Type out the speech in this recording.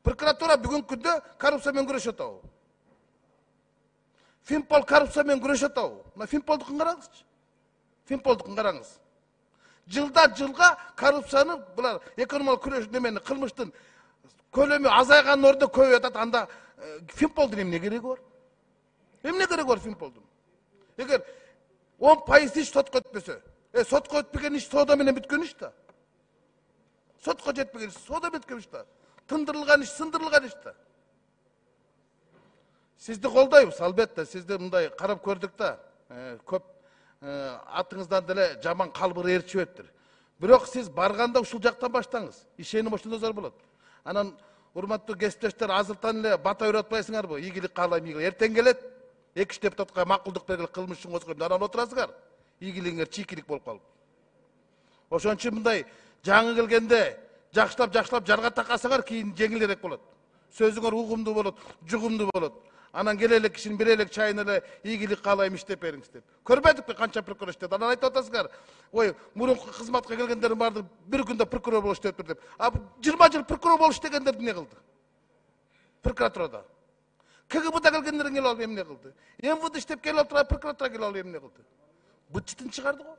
Прокуратура бүгүнкү күндө коррупция менен күрөшүп атабы? Финпол коррупция менен күрөшүп атабы? Мына Финполдукун караңызчы. Финполдукун караңыз. Жылдан жылга коррупцияны булар экономикалык күрөш немени кылмыштын көлөмү азайганын ордуна көбөйүп атат. Анда Финполдун эмне кереги бар? Эмне кереги бар Финполдун? Эгер 10% иш сотко өтпөсө, сотко өтпөгөн иш соода менен бүткөн иш да. Сотко жетпеген иш соода бүткөн иш да. Тындырылган иш сындырылган иш да. Сизди колдойбуз, албетте, сизди мындай карап көрдүк да. Көп атыңыздан деле жаман калбыр ээрчибептир. Бирок сиз барганда ушул жактан баштаңыз. Ишеним ошондо зор болот. Анан урматтуу кесиптештер, азыртан эле бата үйрөтүп атпайсыңарбы? Ийгилик каалайм, ийгилик. Эртең келет, 2 депутатка макулдук бергиле кылмыш үчүн козгойм. Анан отурасыңар. Ийгилигиңер чийкилик болуп калып. Ошон үчүн мындай жаңы келгенде жакшылап жарга такасаңар кийин жеңилирээк болот. Сөзүңөр угумдуу болот, жугумдуу болот. Анан келе элек кишинин бир элек чайын эле ийгилик каалайм иштеп бериңиз деп. Көрбөдүкпү канча прокурор иштеп. Анан айтып атасыңар, ой, мурунку кызматка келгендердин баары бир күндө прокурор болуп иштептир деп. 20 жыл прокурор болуп иштегендер эмне кылды? Прокуратурада. КГБда келгендер эмне кылды? МВД иштеп келип отура прокуратура келип алып эмне кылды? Быт-чытын чыгарды го.